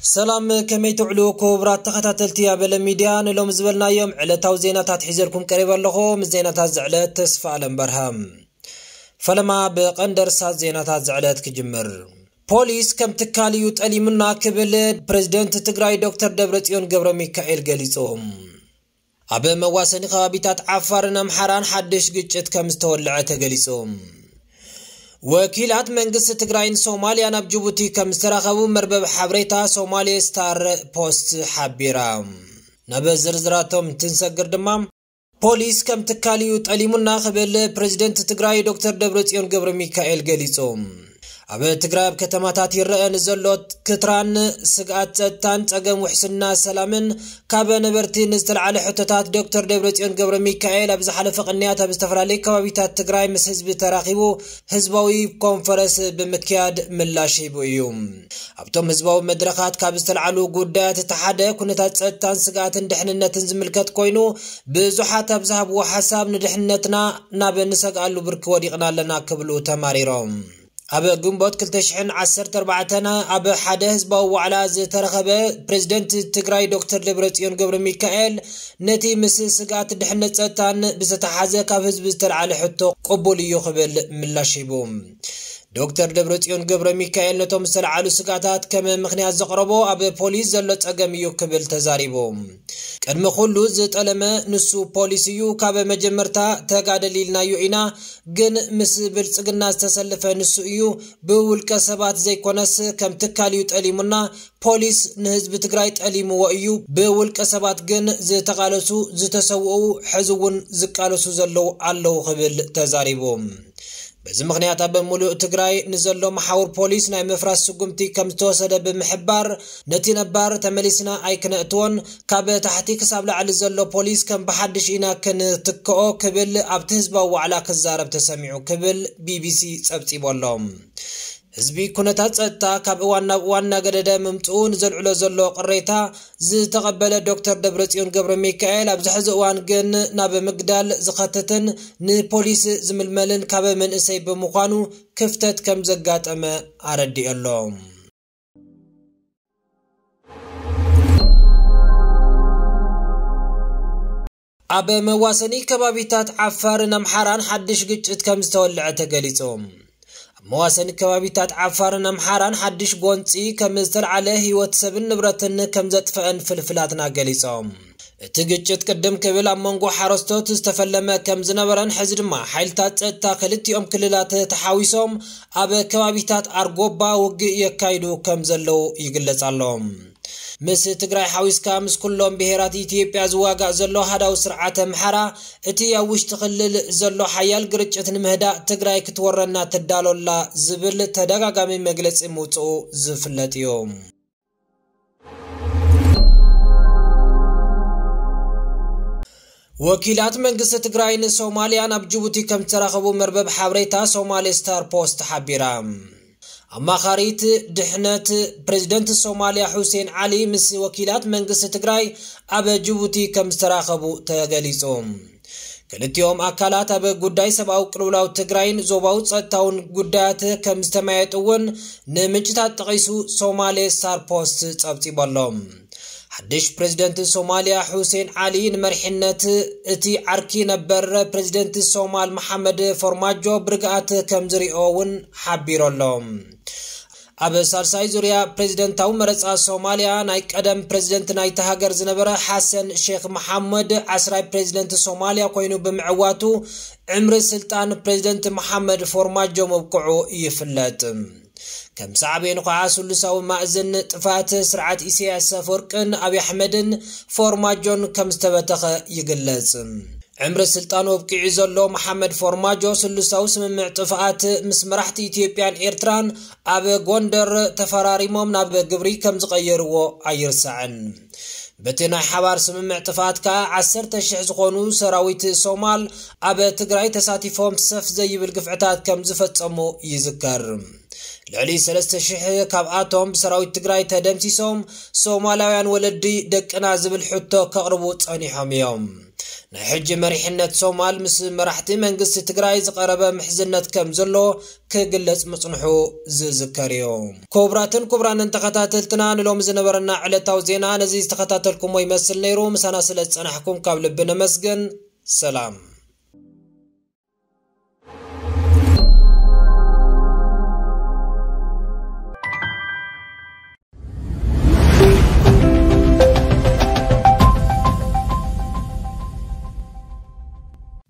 ሰላም፣ ከመይ ትውዕሉ ክቡራት ተኸታተልቲ ኣበለ ሚድያ? ንሎም ዝበልናዮም ዕለታዊ ዜናታት ሒዘልኩም ቀሪበ ኣለኹ። ምስ ዜናታት ዝዕለት ተስፋ ኣለም በርሃም። ፈለማ ብቐንደርሳት ዜናታት ዝዕለት ክጅምር። ፖሊስ ከም ትካል እዩ ጠሊሙና ክብል ፕሬዝደንት ትግራይ ዶክተር ደብረጽዮን ገብረ ሚካኤል ገሊጹ። ኣብ መዋሰኒ ከባቢታት ዓፋርን ኣምሓራን ሓድሽ ግጭት ከም ዝተወልዐ ተገሊጹ። ወኪላት መንግስቲ ትግራይን ሶማልያ ናብ ጅቡቲ ከም ዝተራኸቡ መርበብ ሓበሬታ ሶማሌ ስታር ፖስት ሓቢራ። ናብ ዝርዝራቶም ትንሰግር ድማ፣ ፖሊስ ከም ትካል እዩ ጠሊሙና ክብል ፕሬዝደንት ትግራይ ዶክተር ደብረጽዮን ገብረ ሚካኤል ገሊጹ። ኣብ ትግራይ ኣብ ከተማታት ይረአ ንዘሎ ክትራን ስግኣት ጸጥታን ጸገም ውሕስና ሰላምን ካብ ነበርቲ ንዝተለዓለ ሕቶታት ዶክተር ደብረጽዮን ገብረ ሚካኤል ኣብ ዝሓለፈ ቅንያት ኣብ ዝተፈላለዩ ከባቢታት ትግራይ ምስ ህዝቢ ተራኺቡ ህዝባዊ ኮንፈረንስ ብምክያድ ምላሽ ሂቡ እዩ። ኣብቶም ህዝባዊ መድረኻት ካብ ዝተለዓሉ ጉዳያት እቲ ሓደ ኩነታት ጸጥታን ስግኣትን ድሕንነትን ዝምልከት ኮይኑ፣ ብዙሓት ኣብ ዝሃብዎ ሓሳብ ንድሕንነትና ናብ ንሰግኣሉ ብርኪ ወዲቕና ኣለና ክብሉ ተማሪሮም። ኣብ ግንቦት ክልተ ሽሕን ዓሰርተ ኣርባዕተን ኣብ ሓደ ህዝባዊ ዋዕላ ዝተረኸበ ፕሬዝደንት ትግራይ ዶክተር ደብረጽዮን ገብረ ሚካኤል፣ ነቲ ምስ ስግኣት ድሕነት ጸጥታን ብዝተሓዘ ካብ ህዝቢ ዝተለዓለ ሕቶ ቅቡል እዩ ክብል ምላሽ ሂቡ። ዶክተር ደብረጽዮን ገብረ ሚካኤል ነቶም ዝተለዓሉ ስግኣታት ከም ምኽንያት ዘቕረቦ ኣብ ፖሊስ ዘሎ ጸገም እዩ ክብል ተዛሪቡ። ቅድሚ ኩሉ ዝጠለመ ንሱ ፖሊስ እዩ። ካብ መጀመርታ ተጋደል ኢልናዮ ኢና፣ ግን ምስ ብልጽግና ዝተሰለፈ ንሱ እዩ። ብውልቀ ሰባት ዘይኮነስ ከም ትካል እዩ ጠሊሙና። ፖሊስ ንህዝቢ ትግራይ ጠሊምዎ እዩ። ብውልቀ ሰባት ግን ዝተቓለሱ፣ ዝተሰውኡ፣ ሕዚ እውን ዝቃለሱ ዘለዉ ኣለዉ ክብል ተዛሪቡ። በዚ ምኽንያት ኣብ ሙሉእ ትግራይ ንዘሎ መሓውር ፖሊስ ናይ ምፍራስ ስጉምቲ ከም ዝተወሰደ ብምሕባር፣ ነቲ ነባር ተመሊስና ኣይክነእትዎን፣ ካብ ታሕቲ ክሳብ ላዕሊ ዘሎ ፖሊስ ከም ብሓድሽ ኢና ክንትክኦ ክብል ኣብቲ ህዝባዊ ዋዕላ ክዛረብ ተሰሚዑ ክብል ቢቢሲ ጸብጺቡ ኣሎ። ህዝቢ ኩነታት ጸጥታ ካብ እዋን ናብ እዋን እናገደደ ምምጽኡ ንዘልዕሎ ዘሎ ቅሬታ ዝተቐበለ ዶክተር ደብረጽዮን ገብረ ሚካኤል፣ ኣብዚ ሕዚ እዋን ግን ናብ ምግዳል ዝኸትትን ንፖሊስ ዝምልመልን ካብ መንእሰይ ብምዃኑ ክፍተት ከም ዘጋጠመ ኣረዲኡ ኣሎ። ኣብ መዋሰኒ ከባቢታት ዓፋርን ኣምሓራን ሓድሽ ግጭት ከም ዝተወልዐ ተገሊጹ። ኣብ መዋሰኒ ከባቢታት ዓፋርን ኣምሓራን ሓድሽ ጎንጺ ከም ዝተልዓለ ህይወት ሰብን ንብረትን ከም ዘጥፈአን ፍልፍላትና ገሊጾም። እቲ ግጭት ቅድም ክብል ኣብ መንጎ ሓረስቶት ዝተፈለመ ከም ዝነበረን ሕዚ ድማ ሓይልታት ጸጥታ ክልቲኦም ክልላት ተሓዊሶም ኣብ ከባቢታት ኣርጎባ ውግእ የካይዱ ከም ዘለዉ ይግለጽ ኣሎ። ምስ ትግራይ ሓዊስካ ምስ ኩሎም ብሄራት ኢትዮጵያ ዝዋጋእ ዘሎ ሃዳው ስርዓት ኣምሓራ፣ እቲ ኣብ ውሽጢ ክልል ዘሎ ሓያል ግርጭት ንምህዳእ ትግራይ ክትወረና ትዳሎላ ዝብል ተደጋጋሚ መግለጺ ምውፅኡ ዝፍለጥ እዩ። ወኪላት መንግስቲ ትግራይ ንሶማልያ ናብ ጅቡቲ ከም ዝተራኸቡ መርበብ ሓበሬታ ሶማሌ ስታር ፖስት ሓቢራ። ኣማኻሪት ድሕነት ፕሬዝደንት ሶማልያ ሁሴን ዓሊ ምስ ወኪላት መንግስቲ ትግራይ ኣብ ጅቡቲ ከም ዝተራኸቡ ተገሊጹ። ክልቲኦም ኣካላት ኣብ ጉዳይ ሰብኣዊ ቅልውላው ትግራይን ዞባዊ ጸጥታውን ጉዳያት ከም ዝተመያየጡ እውን ንምንጭታት ጠቒሱ ሶማሌ ስታር ፖስት ጸብጺቡ ኣሎ። ሓድሽ ፕሬዝደንት ሶማልያ ሁሴን ዓሊ ንመሪሕነት እቲ ዓርኪ ነበር ፕሬዝደንት ሶማል መሓመድ ፎርማጆ ብርግኣት ከም ዝሪኦ እውን ሓቢሩ ኣሎ። ኣብ ሳልሳይ ዙርያ ፕሬዝደንታዊ መረጻ ሶማልያ፣ ናይ ቀደም ፕሬዝደንት ናይታ ሃገር ዝነበረ ሓሰን ሼክ መሓመድ ዓስራይ ፕሬዝደንት ሶማልያ ኮይኑ ብምዕዋቱ፣ ዕምሪ ስልጣን ፕሬዝደንት መሓመድ ፎርማጆ ምብቅዑ ይፍለጥ። ከም ሳዕቤኑ ከዓ ስሉሳዊ ማእዝን ጥፍኣት ስርዓት ኢሳያስ ኣፈወርቅን ኣብይ ኣሕመድን ፎርማጆን ከም ዝተበተኸ ይግለጽ። ዕምሪ ስልጣኑ ኣብቂዑ ዘሎ መሓመድ ፎርማጆ ስሉሳዊ ስምምዕ ጥፍኣት ምስ መራሕቲ ኢትዮጵያን ኤርትራን ኣብ ጎንደር ተፈራሪሞም ናብ ግብሪ ከም ዝቐየርዎ ኣይርሳዕን። በቲ ናይ ሓባር ስምምዕ ጥፍኣት ከዓ ዓሰርተ ሽሕ ዝኾኑ ሰራዊት ሶማል ኣብ ትግራይ ተሳቲፎም ሰፍ ዘይብል ግፍዕታት ከም ዝፈጸሙ ይዝከር። ልዕሊ ሰለስተ ሽሕ ካብኣቶም ብሰራዊት ትግራይ ተደምሲሶም፣ ሶማላውያን ወለዲ ደቅና ዝብል ሕቶ ከቕርቡ ጸኒሖም እዮም። ናይ ሕጂ መሪሕነት ሶማል ምስ መራሕቲ መንግስቲ ትግራይ ዝቐረበ ምሕዝነት ከም ዘሎ ክግለጽ ምጽንሑ ዝዝከር እዩ። ክቡራትን ክቡራንን ተኸታተልትና፣ ንሎሚ ዝነበረና ዕለታዊ ዜና ነዚ ዝተኸታተልኩሞ ይመስል ነይሩ። ምሳና ስለ ዝጸናሕኩም ካብ ልቢ ነመስግን። ሰላም።